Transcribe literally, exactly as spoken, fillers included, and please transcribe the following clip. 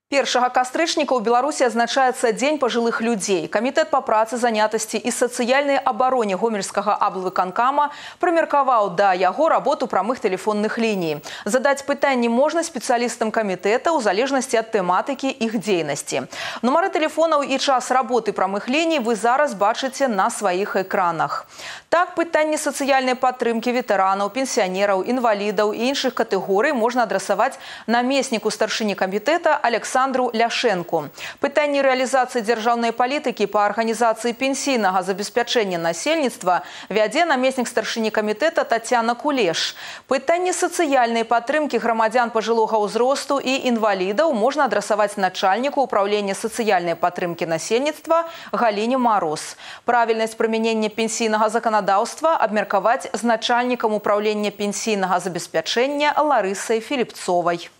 Першага кастрычніка ў Беларусі адзначаецца Дзень пажылых людзей. Камітэт па працы, занятасці і сацыяльнай абароне гомельскага аблвыканкама прымеркаваў да яго работу прамых тэлефонных ліній. Задаць пытанні можна спецыялістам камітэта ў залежнасці ад тэматыкі іх дзейнасці. Нумары тэлефонаў і час работы прамых ліній вы зараз бачыце на сваіх экранах. Так, пытанні сацыяльнай падтрымкі ветэранаў, пенсіянераў, інвалідаў і іншых катэгорый можна адрасаваць намесніку старшыні камітэта Александру Ляшенку. Пытанні рэалізацыі дзяржаўнай палітыкі па арганізацыі пенсійнага забеспячэння насельніцтва вядзе намеснік старшыні камітэта Тацяна Кулеш. Пытанні сацыяльнай падтрымкі грамадзян пажылога ўзросту і інвалідаў можна адрасаваць начальніку ўпраўлення сацыяльнай падтрымкі насельніцтва Галіне Мароз. Правільнасць прымянення пенсійнага заканадаўства абмеркаваць з начальнікам управлення пенсійнага забеспячэння Ларысай Філіпцовай.